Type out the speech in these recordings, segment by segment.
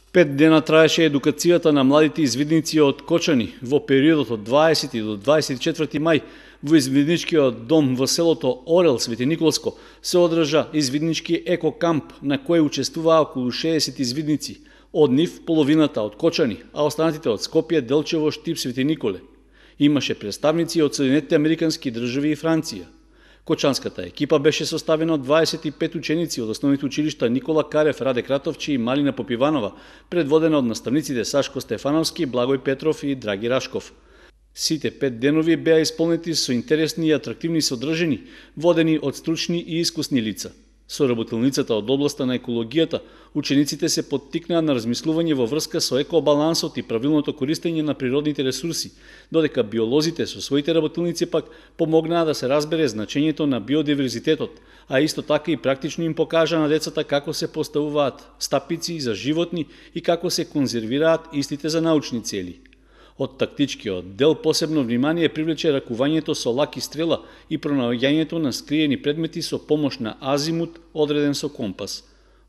5 дена траеше едукацијата на младите извидници од Кочани во периодот од 20 до 24 мај во извидничкиот дом во селото Орел, Свети Николско, се одржа извиднички еко-камп на кој учествуваа околу 60 извидници. Од нив половината од Кочани, а останатите од Скопје, Делчево, Штип, Свети Николе. Имаше представници од Соединетите Американски држави и Франција. Кочанската екипа беше составена од 25 ученици од основните училишта Никола Карев, Раде Кратовчи и Малина Попиванова, предводена од наставниците Сашко Стефановски, Благој Петров и Драги Рашков. Сите 5 денови беа исполнети со интересни и атрактивни содржини, водени од стручни и искусни лица. Со работилницата од областа на екологијата, учениците се поттикнаа на размислување во врска со екобалансот и правилното користење на природните ресурси, додека биолозите со своите работилници пак помогнаа да се разбере значењето на биодиверзитетот, а исто така и практично им покажа на децата како се поставуваат стапици за животни и како се конзервираат истите за научни цели. Од тактичкиот дел посебно внимание привлече ракувањето со лак и стрела и пронаоѓањето на скриени предмети со помош на азимут одреден со компас.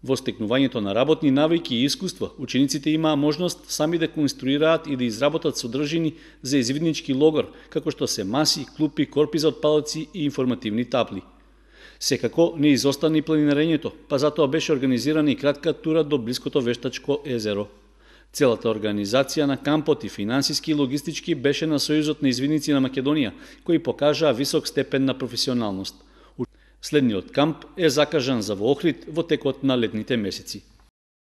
Во стекнувањето на работни навики и искуства, учениците имаа можност сами да конструираат и да изработат содржини за извиднички логор, како што се маси, клупи, корпи за отпадоци и информативни табли. Секако не изостана и планинарењето, па затоа беше организирана и кратка тура до блиското Вештачко езеро. Целата организација на кампот и финансиски и логистички беше на Сојузот на извидници на Македонија, кои покажаа висок степен на професионалност. Следниот камп е закажан за во Охрид во текот на летните месеци.